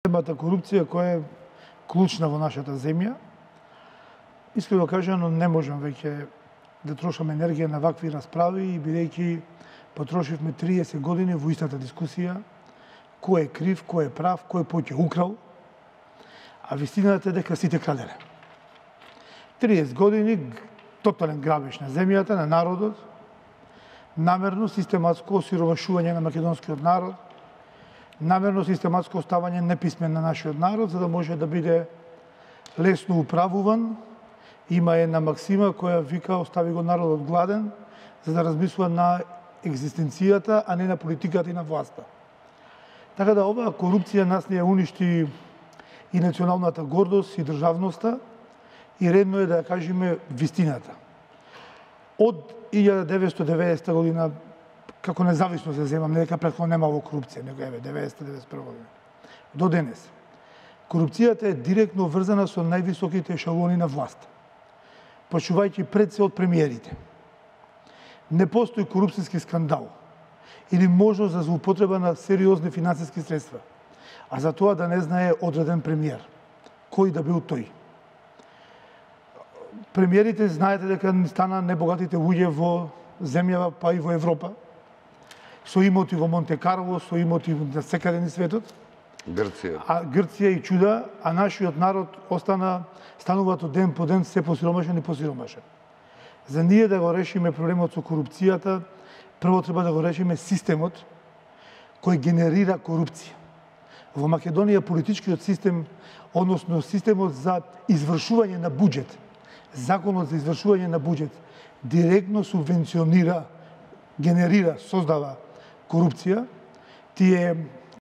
Темата корупција која е клучна во нашата земја. Искрено кажано, не можам веќе да трошам енергија на вакви расправи и бидејќи потрошивме 30 години во истата дискусија, кој е крив, кој е прав, кој повеќе украл, а вистината е дека сите краделе. 30 години тотален грабеж на земјата, на народот, намерно систематско осиромашување на македонскиот народ, намерно систематско оставање неписмен на нашиот народ, за да може да биде лесно управуван. Има една максима која вика остави го народот гладен, за да размислува на екзистенцијата, а не на политиката и на власта. Така да оваа корупција нас не ја уништи и националната гордост и државноста, и редно е да ја кажеме вистината. Од 1990 година, како независно се земам, не дека претходно немало корупција, него еве 90-91 година. До денес. Корупцијата е директно врзана со највисоките ешелони на власт, почувајќи пред се од премиерите. Не постои корупцијски скандал или можност за злоупотреба на сериозни финансиски средства, а за тоа да не знае одреден премиер, кој да бил тој. Премиерите знаете дека стана небогатите луѓе во земјава, па и во Европа, со имоти во Монте Карло, со имоти на секаде низ светот. Грција. А Грција и чуда, а нашиот народ стануваат од ден по ден се посиромашен и посиромашен. За ние да го решиме проблемот со корупцијата, прво треба да го решиме системот кој генерира корупција. Во Македонија политичкиот систем, односно системот за извршување на буџет, законот за извршување на буџет, директно субвенционира, генерира, создава корупција. Тие